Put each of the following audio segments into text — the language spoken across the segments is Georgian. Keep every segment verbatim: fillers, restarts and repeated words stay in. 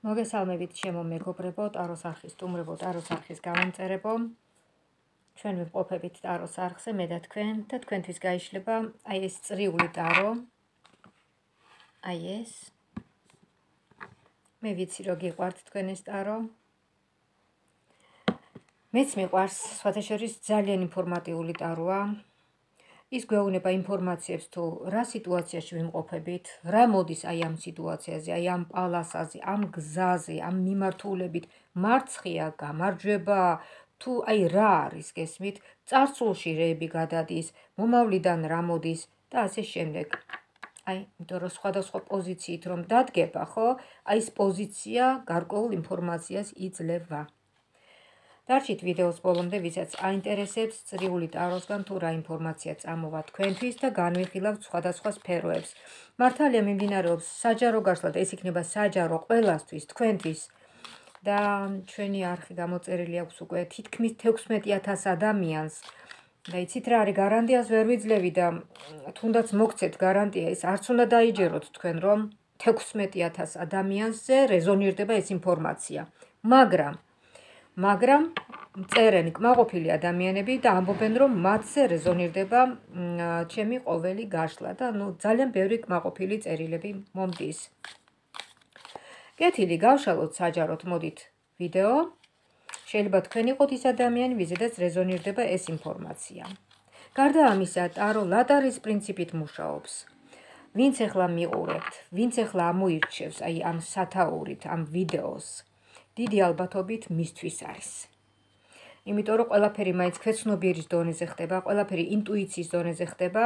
მოგესალმებით ჩემო მეგობრებო, ტაროს არხის სტუმრებო, ტაროს არხის გამომწერებო. ჩვენ ვიმყოფებით ტაროს არხზე, მე და თქვენ და თქვენთვის გაიშლება აი ეს წრიული ტარო. აი ეს. მე ვიცი რომ გიყვართ თქვენ ეს ტარო. მეც მიყვარს, სხვათა შორის ძალიან ინფორმატიული ტაროა. ის გვეუბნება ინფორმაციებს თუ რა სიტუაციაში ვიმყოფებით, რა მოდის აი ამ სიტუაციაზე, აი ამ პალასაზე, ამ გზაზე, ამ მიმართულებით, მარცხია, გამარჯვება, თუ აი რა არის გესმით, წარსულში რეები გადადის, მომავლიდან რა მოდის და ასე შემდეგ. აი, იმიტომ რომ სხვადასხვა პოზიციით რომ დადგება, ხო? აი ეს პოზიცია გარკვეულ ინფორმაციას იძლევა. დარჩით ვიდეოს ბოლომდე, ვისაც აინტერესებს წრიული ტაროსგან თუ რა ინფორმაცია წამოვა თქვენთვის და განვიხილავთ სხვადასხვა სფეროებს. მართალია მიმდინარეობს საჯარო გაშლა და ეს იქნება საჯარო ყველასთვის, თქვენთვის. და ჩვენი არხი გამოწერილი აქვს უკვე თითქმის თექვსმეტი ათას ადამიანს. და იცით რა არის, გარანტიას ვერ ვიძლევი და თუნდაც მოგცეთ გარანტია, ეს არც უნდა დაიჯეროთ თქვენ, რომ თექვსმეტი ათას ადამიანზე რეზონირდება ეს ინფორმაცია. მაგრამ მაგრამ წერენ კმაყოფილი ადამიანები და ამბობენ რომ მათზე რეზონირდება ჩემი ყოველი გაშლა და ნუ ძალიან ბევრი კმაყოფილი წერილები მომდის. კეთილი გავშალოთ საჯაროდ, მოდით ვიდეო. შეიძლება თქვენ იყოთ ის ადამიანი, ვიზედაც რეზონირდება ეს ინფორმაცია. გარდა ამისა, ტარო ლატარის პრინციპით მუშაობს. ვინც ახლა მიყურებთ, ვინც ახლა ამოირჩევს აი ამ სათაურით, ამ ვიდეოს, დიდი ალბათობით მისთვის არის. იმიტომ რომ ყველაფერი მაინც ქვეცნობიერის დონეზე ხდება, ყველაფერი ინტუიციის დონეზე ხდება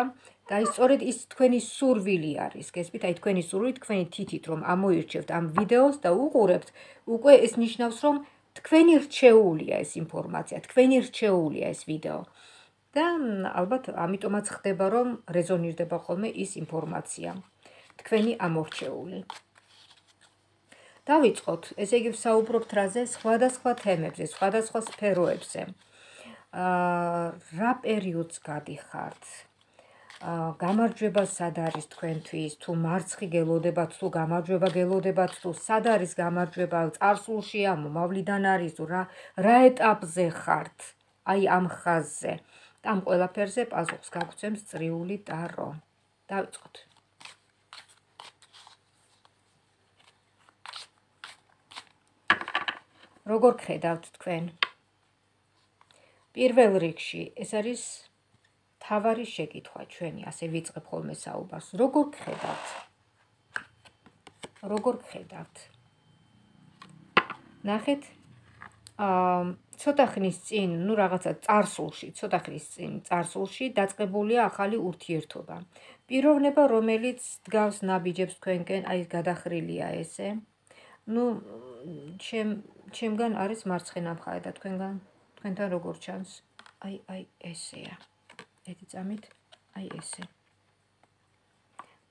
და აი სწორედ ის თქვენი სურვილი არის, გესმით, აი თქვენი სურვილი, თქვენი თითით რომ ამოირჩევთ ამ ვიდეოს და უყურებთ, უკვე ეს ნიშნავს რომ თქვენი რჩეულია ეს ინფორმაცია, თქვენი რჩეულია ეს ვიდეო. და ალბათ ამიტომაც ხდება რომ რეზონირდება ხოლმე ის ინფორმაცია, თქვენი ამორჩეული. დავიწყოთ, ესე იგი ვსაუბრობთ რაზე, სხვადასხვა თემებზე, სხვადასხვა სფეროებზე. რა პერიოდს გადიხართ? გამარჯვება სად არის თქვენთვის, თუ მარცხი გელოდებათ, თუ გამარჯვება გელოდებათ, თუ სად არის გამარჯვება, წარსულშია, მომავლიდან არის, თუ რა რა ეტაპზე ხართ, აი ამ ხაზზე. და ამ ყველაფერზე პასუხს გაგცემს წრიული ტარო. დავიწყოთ. როგორ გხედავთ თქვენ? პირველ რიგში ეს არის თავარი შეკითხვა ჩვენი, ასე ვიწყებ ხოლმე საუბარს. როგორ გხედავთ? როგორ გხედავთ? ნახეთ, აა ცოტა ხნის წინ, ნუ რაღაცა წარსულში, ცოტა ხნის წინ წარსულში დაწყებულია ახალი ურთიერთობა. პიროვნება, რომელიც დგავს ნაბიჯებს თქვენკენ, აი გადახრილია ესე. ნუ ჩემ ჩემგან არის მარცხენა მხარე და თქვენგან თქვენთან როგორ ჩანს? აი აი ესეა. ერთი წამით, აი ესე.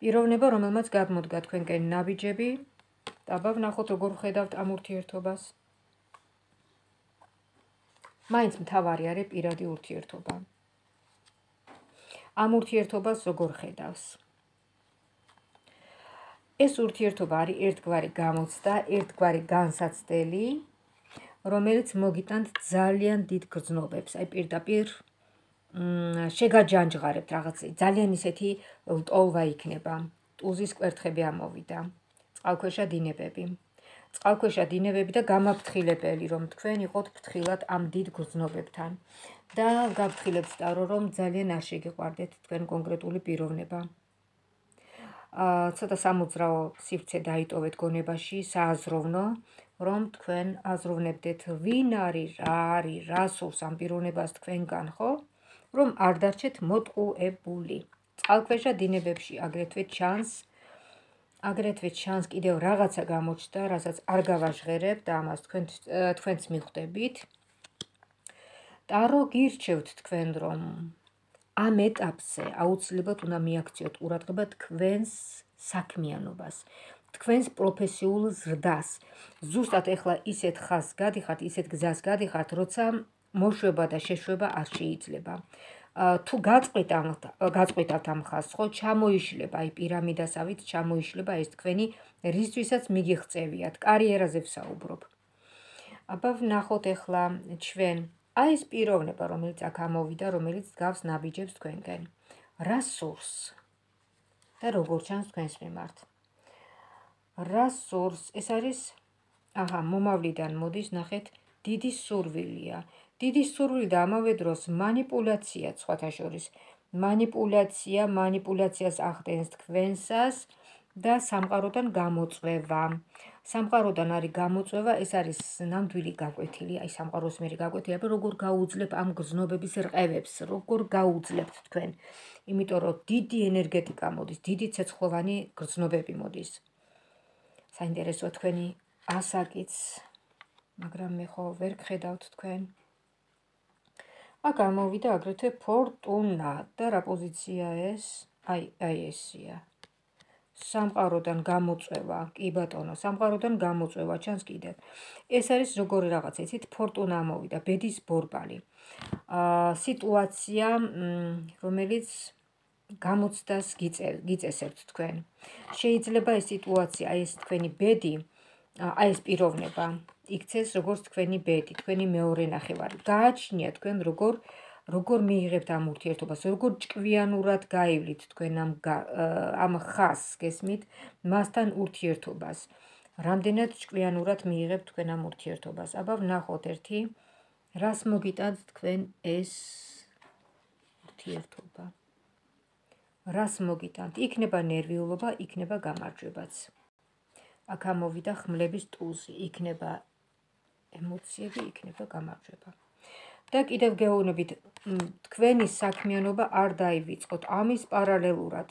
პიროვნება, რომელმაც გადმოდგა თქვენკენ ნაბიჯები, დაბა ვნახოთ როგორ ხედავთ ამ ურთიერთობას. მაინც მთავარი არის პირადი ურთიერთობა. ამ ურთიერთობას როგორ ხედავს? ეს ურთიერთობა არის ერთგვარი გამოცდა, ერთგვარი განსაცდელი, რომელიც მოგიტანთ ძალიან დიდ გრძნობებს. აი პირდაპირ შეგაჯანჯღარებთ რაღაც, ძალიან ისეთი ლტოლვა იქნება. ტუზის კვერთხები ამოვიდა, წყალქვეშა დინებები. წყალქვეშა დინებები და გამაფრთხილებელი, რომ თქვენ იყოთ ფრთხილად ამ დიდ გრძნობებთან. და გაფრთხილებთ ტარო, რომ ძალიან არ შეგიყვარდეთ თქვენ კონკრეტული პიროვნება. ცოტა სამოძრაო სივრცე დაიტოვეთ გონებაში, სააზროვნო, რომ თქვენ აზროვნებდეთ, ვინ არის, რა არის, რა სურს ამ პიროვნებას თქვენგან, ხო? რომ არ დარჩეთ მოტყუებული. წყალქვეშა დინებებში აგრეთვე ჩანს, აგრეთვე ჩანს კიდევ რაღაცა გამოჩნდა, რასაც არ გავაჟღერებ და ამას თქვენ თქვენც მიხვდებით. ტარო გირჩევთ თქვენ, რომ ამ ეტაპზე აუცილებლად უნდა მიაქციოთ ყურადღება თქვენს საქმიანობას, თქვენს პროფესიულ ზრდას. ზუსტად ეხლა ისეთ ხაზს გადიხართ, ისეთ გზას გადიხართ, როცა მოშვება და შეშვება არ შეიძლება. თუ გაწყვიტავთ ამ ხაზს, ხო, ჩამოიშლება აი პირამიდასავით, ჩამოიშლება ეს თქვენი რისთვისაც მიგიღწევიათ, კარიერაზე ვსაუბრობ. აბა ვნახოთ ახლა ჩვენ აი ეს პიროვნება, რომელიც აქ ამოვიდა, რომელიც გავს ნაბიჯებს თქვენკენ. რა სურს და როგორ ჩანს თქვენს მიმართ? რა სურს? ეს არის აჰა, მომავლიდან მოდის, ნახეთ, დიდი სურვილია. დიდი სურვილი და ამავე დროს მანიპულაცია, სხვათა შორის. მანიპულაცია, მანიპულაციას ახდენს თქვენსას და სამყაროდან გამოწვევა. სამყაროდან არის გამოწვევა, ეს არის ნამდვილი გაკვეთილი, აი სამყაროს მერე გაკვეთილი, აბა როგორ გაუძლებ ამ გრძნობების რყევებს, როგორ გაუძლებთ თქვენ. იმიტომ რომ დიდი ენერგეტიკა მოდის, დიდი ცეცხლოვანი გრძნობები მოდის. საინტერესოა თქვენი ასაკიც, მაგრამ მე ხო ვერ გხედავთ თქვენ. აქ ამოვიდა აგრეთვე ფორტუნა და რა პოზიცია ეს? აი, აი ესია. სამყაროდან გამოწვევა, კი ბატონო, სამყაროდან გამოწვევა ჩანს კიდევ. ეს არის როგორი რაღაცა, იცით, ფორტუნა ამოვიდა, ბედის ბორბალი. აა სიტუაცია, რომელიც გამოცდას გიწესებთ თქვენ. შეიძლება ეს სიტუაცია, აი ეს თქვენი ბედი, აი ეს პიროვნება იქცეს როგორც თქვენი ბედი, თქვენი მეორე ნახევარი. გააჩნია თქვენ როგორ როგორ მიიღებთ ამ ურთიერთობას, როგორ ჭკვიანურად გაივლით თქვენ ამ ამ ხაზს, გესმით, მასთან ურთიერთობას. რამდენად ჭკვიანურად მიიღებთ თქვენ ამ ურთიერთობას. აბა ვნახოთ ერთი, რას მოგიტანთ თქვენ ეს ურთიერთობა. რას მოგიტანთ? იქნება ნერვიულობა, იქნება გამარჯვებაც. აქ ამოვიდა ხმლების ტუზი, იქნება ემოციები, იქნება გამარჯვება. და კიდევ გეუბნებით, თქვენი საქმიანობა არ დაივიწყოთ, ამის პარალელურად.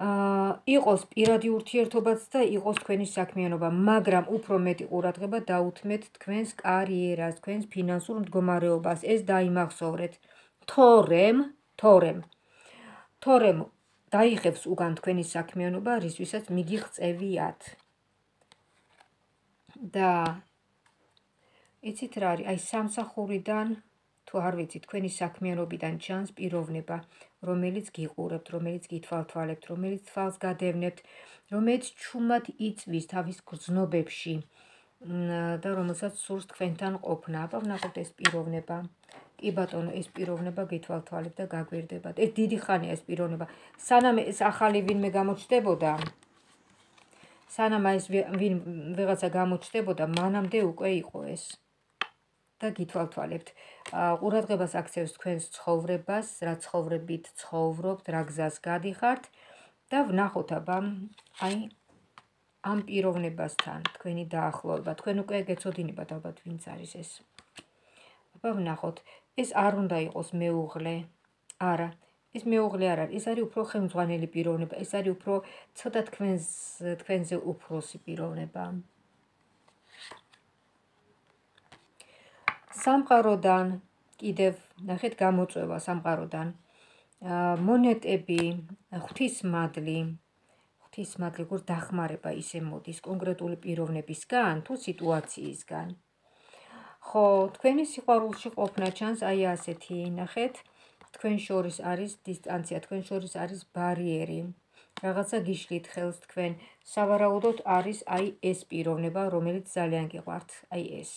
აა იყოს პირადი ურთიერთობაც და იყოს თქვენი საქმიანობა, მაგრამ უფრო მეტი ყურადღება დაუთმეთ თქვენს კარიერას, თქვენს ფინანსურ მდგომარეობას, ეს დაიმახსოვრეთ. თორემ, თორემ, თორემ დაიხევს უგან თქვენი საქმიანობა, რისთვისაც მიგიღწევიათ. და იცით რა არის, აი სამსახურიდან, თუ არ ვიცი, თქვენი საქმიანობიდან ჩანს პიროვნება, რომელიც გიყურებთ, რომელიც გითვალთვალებთ, რომელიც თვალს გადევნებთ, რომელიც ჩუმად იწვის თავის გრძნობებში და რომელსაც სურს თქვენთან ყოფნა. აბა ვნახოთ ეს პიროვნება. კი ბატონო, ეს პიროვნება გითვალთვალებთ და გაგვირდებათ. ეს დიდი ხანია ეს პიროვნება. სანამ ეს ახალი ვინმე გამოჩნდებოდა, სანამ ეს ვინ ვიღაცა გამოჩნდებოდა, მანამდე უკვე იყო ეს. და გითვალთვალებთ. ყურადღებას აქცევს თქვენს ცხოვრებას, რა ცხოვრებით ცხოვრობთ, რა გზას გადიხართ და ვნახოთ აბა აი ამ პიროვნებასთან თქვენი დაახლოება. თქვენ უკვე გეცოდინებათ ალბათ ვინც არის ეს. აბა ვნახოთ, ეს არ უნდა იყოს მეუღლე. არა, ეს მეუღლე არ არის, ეს არის უფრო ხელმძღვანელი პიროვნება, ეს არის უფრო ცოტა თქვენს თქვენზე უფროსი პიროვნება. სამყაროდან კიდევ ნახეთ გამოწვევა სამყაროდან. მონეტები, ღვთისმადლი, ღვთისმადლი როგორ დახმარება ისე მოდის კონკრეტული პიროვნებისგან თუ სიტუაციისგან. ხო, თქვენი სიყვარულში ყოფნა ჩანს აი ასეთი, ნახეთ, თქვენ შორის არის დისტანცია, თქვენ შორის არის ბარიერი. რაღაცა გიშლით ხელს თქვენ, სავარაუდოდ არის აი ეს პიროვნება, რომელიც ძალიან გიყვართ, აი ეს.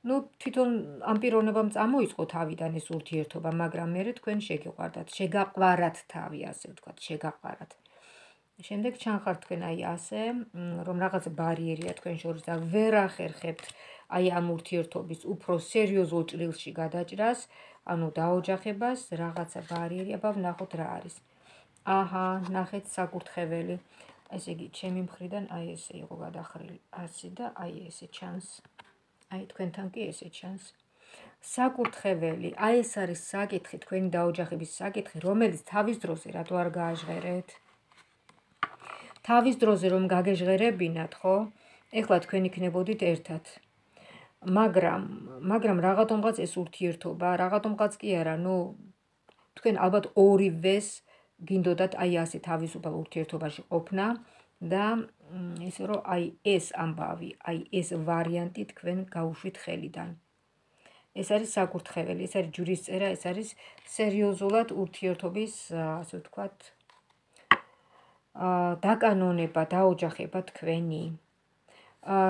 ნუ თვითონ ამ პიროვნებამ წამოიწყო თავიდან ეს ურთიერთობა, მაგრამ მერე თქვენ შეგიყვარდათ, შეგაყვარათ თავი, ასე ვთქვათ, შეგაყვარათ. შემდეგ ჩანხართ თქვენ აი ასე, რომ რაღაც ბარიერია თქვენ შორის და ვერ ახერხებთ აი ამ ურთიერთობის უფრო სერიოზულ ჭრილში გადაჭრას, ანუ დაოჯახებას, რაღაცა ბარიერი, აბა ვნახოთ რა არის. აჰა, ნახეთ საკურთხეველი. ესე იგი, ჩემი მხრიდან აი ესე იყო გადახრილი, ასე და აი ესე ჩანს. აი თქვენთან კი ესე ჩანს. საკურთხეველი, აი ეს არის საკითხი, თქვენი დაოჯახების საკითხი, რომელიც თავის დროზე რატო არ გააჟღერეთ? თავის დროზე რომ გაგეჟღერებინათ, ხო? ეხლა თქვენ იქნებოდით ერთად. მაგრამ, მაგრამ რაღაცომღაც ეს ურთიერთობა, რაღაცომღაც კი არა, ნუ თქვენ ალბათ ორივეს გინდოდათ აი ასე თავისუფალ ურთიერთობაში ყოფნა და ისე რომ აი ეს ამბავი, აი ეს ვარიანტი თქვენ გაუშვით ხელიდან. ეს არის საკურთხეველი, ეს არის ჯვრისწერა, ეს არის სერიოზულად ურთიერთობის, ასე ვთქვათ, დაკანონება, დაოჯახება თქვენი.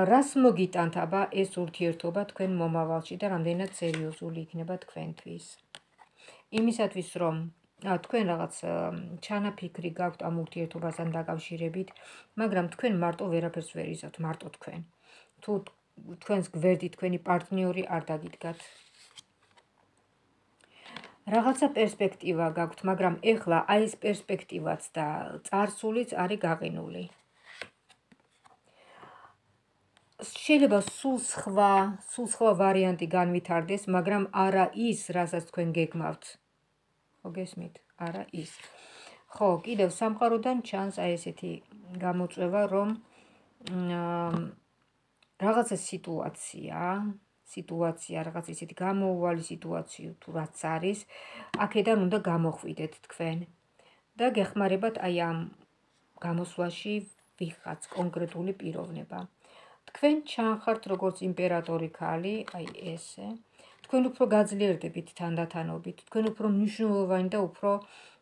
რას მოგიტანთ აბა ეს ურთიერთობა თქვენ მომავალში და რამდენად სერიოზული იქნება თქვენთვის. იმისათვის რომ თქვენ რაღაც ჩანაფიქრი გაქვთ ამ ურთიერთობასთან დაკავშირებით, მაგრამ თქვენ მარტო ვერაფერს ვერ იზავთ, მარტო თქვენ. თუ თქვენს გვერდით თქვენი პარტნიორი არ დაგიდგათ. რაღაცა პერსპექტივა გაქვთ, მაგრამ ეხლა აი ეს პერსპექტივაც და წარსულიც არის გაყინული. შეიძლება სულ სხვა, სულ სხვა ვარიანტი განვითარდეს, მაგრამ არა ის, რასაც თქვენ გეგმავთ. ხო გესმით? არა ის. ხო, კიდევ სამყაროდან ჩანს აი ესეთი გამოწვევა, რომ რაღაცა სიტუაცია, სიტუაცია, რაღაც ისეთი გამოუვალი სიტუაცია თუ რაც არის, აქედან უნდა გამოხვიდეთ თქვენ და გეხმარებათ აი ამ გამოსვლაში ვიღაც კონკრეტული პიროვნება. თქვენ ჩანხართ როგორც იმპერატორი ქალი, აი ესე. თქვენ უფრო გაძლიერდებით თანდათანობით, თქვენ უფრო მნიშვნელოვანი და უფრო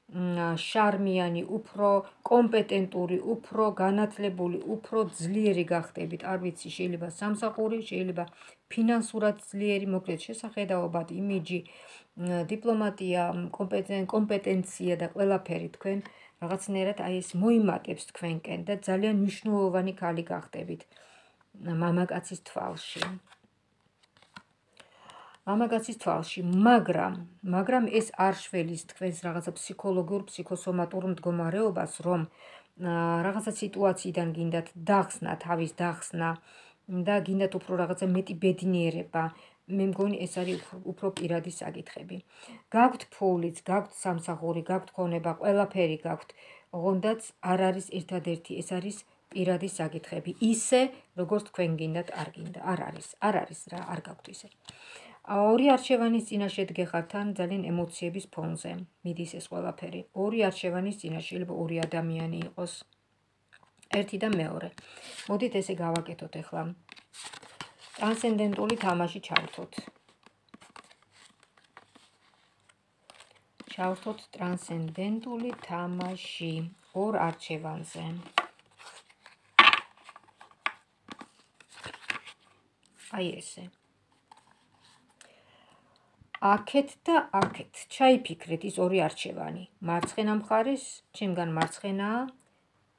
შარმიანი, უფრო კომპეტენტური, უფრო განათლებული, უფრო ძლიერი გახდებით. არ ვიცი, შეიძლება სამსახური, შეიძლება ფინანსურად ძლიერი, მოკლედ შესახედაობად, იმიჯი, დიპლომატია, კომპეტენცია და ყველაფერი თქვენ რაღაცნაირად აი ეს მოიმატებს თქვენკენ და ძალიან მნიშვნელოვანი ქალი გახდებით მამაკაცის თვალში. მამაკაცის თვალში, მაგრამ, მაგრამ ეს არ შველის თქვენს რაღაცა ფსიქოლოგიურ, ფსიქოსომატურ მდგომარეობას, რომ რაღაცა სიტუაციიდან გინდათ დახსნა, თავის დახსნა და გინდათ უფრო რაღაცა მეტი ბედნიერება. მე მგონი ეს არის უფრო პირადი საკითხები. გაქვთ ფულიც, გაქვთ სამსახური, გაქვთ ქონება, ყველაფერი გაქვთ, ოღონდაც არ არის ერთადერთი, ეს არის პირადი საკითხები. ისე, როგორც თქვენ გინდათ, არ გინდა, არ არის, არ არის რა, არ გაქვთ ისე. ორი არჩევანის წინაშე დგეხართ ან ძალიან ემოციების ფონზე მიდის ეს ყველაფერი. ორი არჩევანის წინაშე, შეიძლება ორი ადამიანი იყოს. ერთი და მეორე. მოდით ესე გავაკეთოთ ახლა. ტრანსცენდენტული თამაში ჩავრთოთ. ჩავრთოთ ტრანსცენდენტული თამაში ორ არჩევანზე. აი ესე. აქეთ და აქეთ ჩაიფიქრეთ ის ორი არჩევანი. მარცხენა მხარეს, ჩემგან მარცხენაა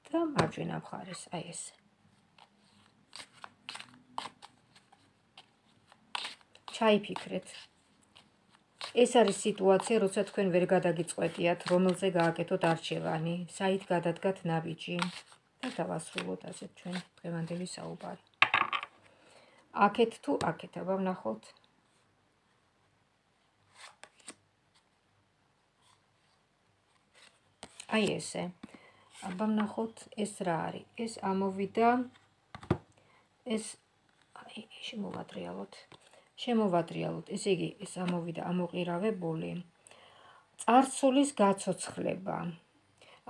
და მარჯვენა მხარეს, აი ესე. ჩაიფიქრეთ. ეს არის სიტუაცია, როცა თქვენ ვერ გადაგიწყვეტიათ, რომელზე გააკეთოთ არჩევანი, საით გადადგათ ნაბიჯი და დავასრულოთ ასეთ ჩვენ დღევანდელი საუბარი. აქეთ თუ აქეთ, აბა ვნახოთ. აი ესე. აბა ვნახოთ ეს რა არის. ეს ამოვიდა, ეს აი შემოვატრიალოთ. შემოვატრიალოთ. ესე იგი, ეს ამოვიდა ამოყირავებული. წარსულის გაცოცხლება.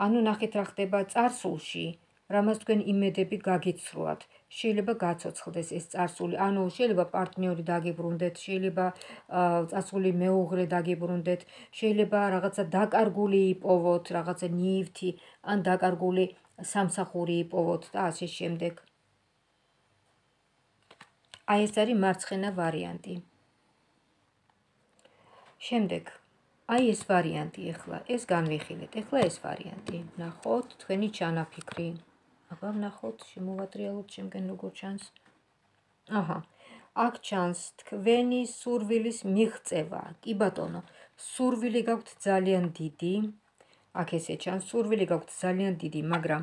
ანუ ნახეთ რა ხდება წარსულში, რამაც თქვენ იმედები გაგიცრუათ. შეიძლება გაცოცხლდეს ეს წარსული, ანუ შეიძლება პარტნიორი დაგიბრუნდეთ, შეიძლება წარსული მეუღლე დაგიბრუნდეთ, შეიძლება რაღაცა დაკარგული იპოვოთ, რაღაცა ნივთი, ან დაკარგული სამსახური იპოვოთ და ასე შემდეგ. აი ეს არის მარცხენა ვარიანტი. შემდეგ, აი ეს ვარიანტი ახლა, ეს განვიხილეთ, ახლა ეს ვარიანტი. ნახოთ თქვენი ჩანაფიქრი. აბა ვნახოთ, შემოვატრიალოთ შემგენ როგორ ჩანს. აჰა, აქ ჩანს თქვენი სურვილის მიღწევა. კი ბატონო, სურვილი გაქვთ ძალიან დიდი. აქ ესე ჩანს, სურვილი გაქვთ ძალიან დიდი, მაგრამ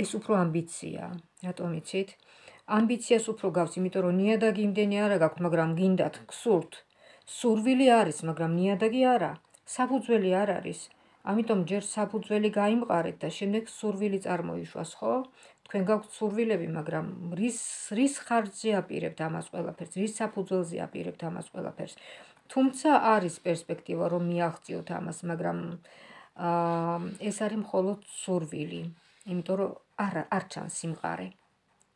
ეს უფრო ამბიცია. რატომ იცით? ამბიციას უფრო გაქვს, იმიტომ რომ ნიადაგი იმდენი არა გაქვთ, მაგრამ გინდათ, გსურთ. სურვილი არის, მაგრამ ნიადაგი არა. საფუძველი არ არის. ამიტომ ჯერ საფუძველი გაიმყარეთ და შემდეგ სურვილი წარმოიშვას, ხო? თქვენ გაქვთ სურვილები, მაგრამ რის რის ხარჯზე აპირებთ ამას ყველაფერს, რის საფუძველზე აპირებთ ამას ყველაფერს. თუმცა არის პერსპექტივა, რომ მიაღწიოთ ამას, მაგრამ ეს არის მხოლოდ სურვილი, იმიტომ რომ არ არ ჩანს სიმყარე.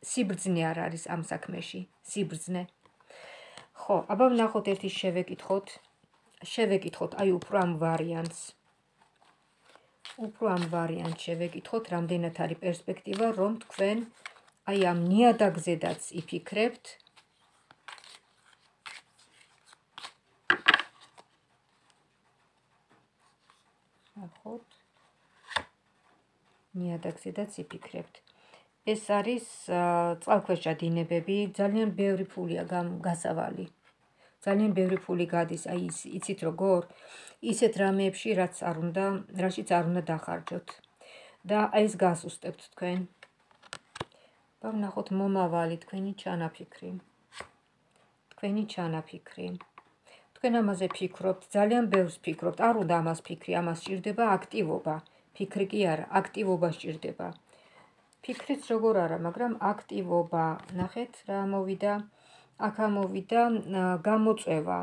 სიბრძნე არ არის ამ საქმეში, სიბრძნე. ხო, აბა ვნახოთ ერთი შევეკითხოთ. შევეკითხოთ აი უფრო ამ ვარიანტს. უფრო ამ ვარიანტს შევეკითხოთ, რამდენად არის პერსპექტივა, რომ თქვენ აი ამ ნიადაგზედაც იფიქრებთ. ნახოთ. ნიადაგზედაც იფიქრებთ. ეს არის წყალქვეშა დინებები, ძალიან ბევრი ფულია გასავალი. ძალიან ბევრი ფული გადის, აი იცით როგორ? ისეთ რამეებში, რაც არ უნდა, რაშიც არ უნდა დახარჯოთ. და აი ეს გასუსტებთ თქვენ. და ვნახოთ მომავალი თქვენი ჩანაფიქრი. თქვენი ჩანაფიქრი. თქვენ ამაზე ფიქრობთ, ძალიან ბევრს ფიქრობთ, არ უნდა ამას ფიქრი, ამას სჭირდება აქტივობა. ფიქრი კი არა, აქტივობა სჭირდება. ფიქრიც როგორ არა, მაგრამ აქტივობა. ნახეთ რა მოვიდა. აქ ამოვიდა გამოწვევა.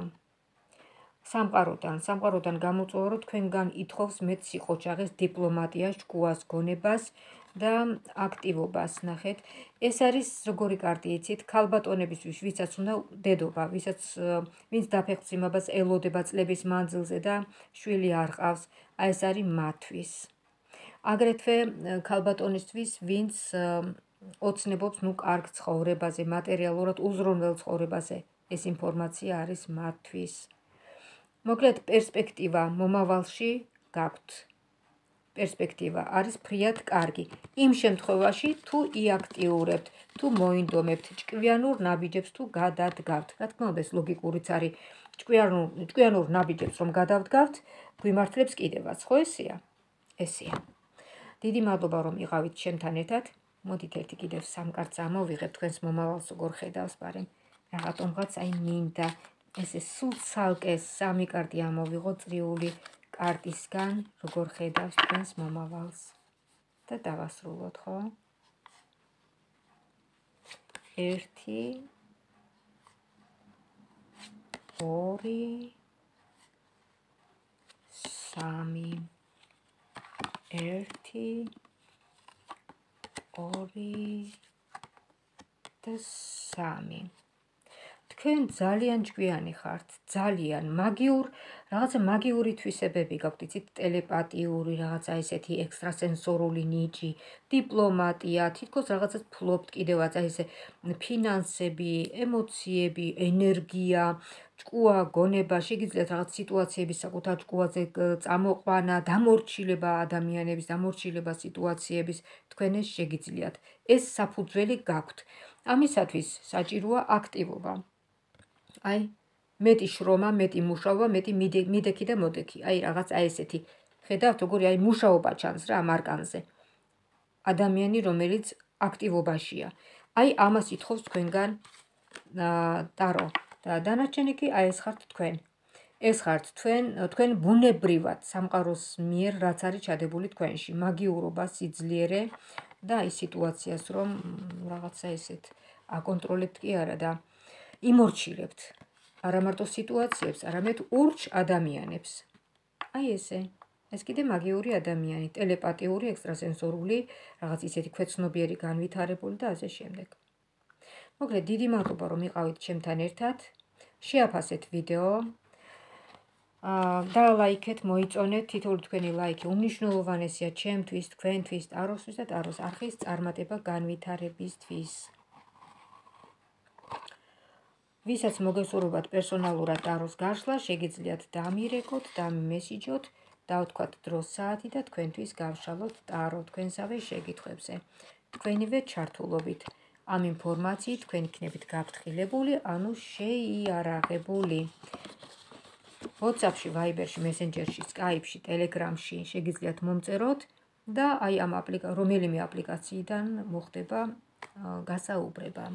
სამყაროდან, სამყაროდან გამოწვევა, რომ თქვენგან ითხოვს მეტ სიყოჩაღეს, დიპლომატიას, ჭკუას, გონებას და აქტივობას. ნახეთ, ეს არის როგორი კარტი იცით, ქალბატონებისთვის, ვისაც უნდა დედობა, ვისაც ვინც დაფეხმძიმებას ელოდება წლების მანძილზე და შვილი არ ყავს, აი ეს არის მათთვის. აგრეთვე ქალბატონისთვის, ვინც ოცნებობს ნუ კარგ ცხოვრებაზე, მატერიალურად უზრუნველ ცხოვრებაზე, ეს ინფორმაცია არის მათთვის. მოკლედ პერსპექტივა მომავალში გაქვთ. პერსპექტივა არის ფრიად კარგი. იმ შემთხვევაში თუ იაქტიურებთ, თუ მოინდომებთ, ჭკვიანურ ნაბიჯებს თუ გადადგავთ. რა თქმა უნდა, ეს ლოგიკურიც არის. ჭკვიანურ ჭკვიანურ ნაბიჯებს რომ გადავდგავთ, გვიმართლებს კიდევაც, ხო ესეა? ესეა. დიდი მადლობა რომ იყავით ჩემთან ერთად. მოდით ერთი კიდევ სამ კარტს ამოვიღებ, თქვენს მომავალს როგორ ხედავს, მაგრამ რაღაცომღაც აი მინდა ესე სულ ცალკე სამი კარტი ამოვიღო წრიული კარტისგან, როგორ ხედავს თქვენს მომავალს. და დავასრულოთ, ხო? ერთი, ორი, სამი. ერთი, ორი და სამი. თქვენ ძალიან ჭკვიანი ხართ, ძალიან მაგიურ, რაღაცა მაგიური თვისებები გაქვთ, იცით, ტელეპათიური, რაღაცა ესეთი ექსტრასენსორული ნიჭი, დიპლომატია, თითქოს რაღაცას ფლობთ კიდევაც, აი ესე ფინანსები, ემოციები, ენერგია, ჭკუა, გონება, შეგიძლიათ რაღაც სიტუაციების საკუთარ ჭკუაზე წამოყვანა, დამორჩილება ადამიანების, დამორჩილება სიტუაციების, თქვენ ეს შეგიძლიათ. ეს საფუძველი გაქვთ. ამისათვის საჭიროა აქტივობა. აი, მეტი შრომა, მეტი მუშაობა, მეტი მიდექი და მოდექი. აი, რაღაც აი ესეთი. ხედავთ, როგორი აი მუშაობა ჩანს რა ამ არკანზე. ადამიანი, რომელიც აქტივობაშია. აი, ამას ითხოვს თქვენგან ტარო. და დანარჩენი კი აი ეს ხართ თქვენ. ეს ხართ თქვენ, თქვენ ბუნებრივად სამყაროს მიერ რაც არის ჩადებული თქვენში, მაგიურობა, სიძლიერე და აი სიტუაციას რომ რაღაცა ესეთ აკონტროლებთ კი არა და იმორჩილებთ. არა მარტო სიტუაციებს, არამედ ურჩ ადამიანებს. აი ესე. ეს კიდე მაგიური ადამიანი, ტელეპათიური, ექსტრასენსორული, რაღაც ისეთი ქვეცნობიერი განვითარებული და ასე შემდეგ. მოკლედ, დიდი მადლობა რომ იყავით ჩემთან ერთად. შეაფასეთ ვიდეო. და ლაიქეთ, მოიწონეთ, თითოეული თქვენი ლაიქი უმნიშვნელოვანესია ჩემთვის, თქვენთვის, ტაროსთვის და ტაროს არხის წარმატება განვითარებისთვის. ვისაც მოგესურვებათ პერსონალურად ტაროს გაშლა, შეგიძლიათ დამირეკოთ, დამიმესიჯოთ, დავთქვათ დროს საათი და თქვენთვის გავშალოთ ტარო თქვენსავე შეკითხვებზე. თქვენივე ჩართულობით. ამ ინფორმაციით თქვენ იქნებით გაფრთხილებული, ანუ შეიარაღებული. WhatsApp-ში, Viber-ში, Messenger-ში, Skype-ში, Telegram-ში შეგიძლიათ მომწეროთ და აი ამ რომელიმე აპლიკაციიდან მოხდება გასაუბრება.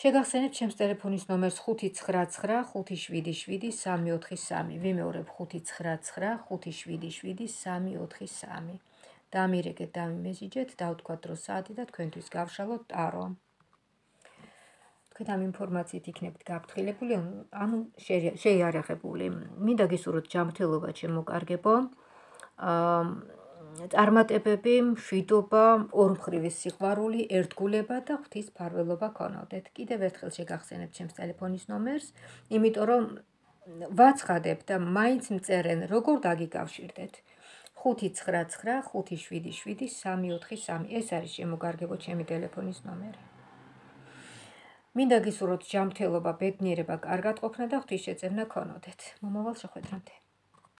შეგახსენებთ ჩემს ტელეფონის ნომერს ხუთი ცხრა ცხრა ხუთი შვიდი შვიდი სამი ოთხი სამი. ვიმეორებ ხუთი ცხრა ცხრა ხუთი შვიდი შვიდი სამი ოთხი სამი. დამირეკეთ, დამიმესიჯეთ, დავთქვათ დროს საათი და თქვენთვის გავშალოთ ტარო. თქვენ ამ ინფორმაციით იქნებით გაფრთხილებული, ანუ შეიარაღებული. მინდა გისურვოთ ჯანმრთელობა, ჩემო კარგებო. წარმატებები, მშვიდობა, ორმხრივი სიყვარული, ერთგულება და ღვთის ფარველობა ქონოდეთ. კიდევ ერთხელ შეგახსენებთ ჩემს ტელეფონის ნომერს, იმიტომ რომ ვაცხადებ და მაინც მწერენ, როგორ დაგიკავშირდეთ. ხუთი ცხრა ცხრა ხუთი შვიდი შვიდი სამი ოთხი სამი. ეს არის შემოგარგებო ჩემი ტელეფონის ნომერი. მინდა გისურვოთ ჯანმრთელობა, ბედნიერება, კარგად ყოფნა და ღვთის შეწევნა ქონოდეთ. მომავალ შეხვედრამდე.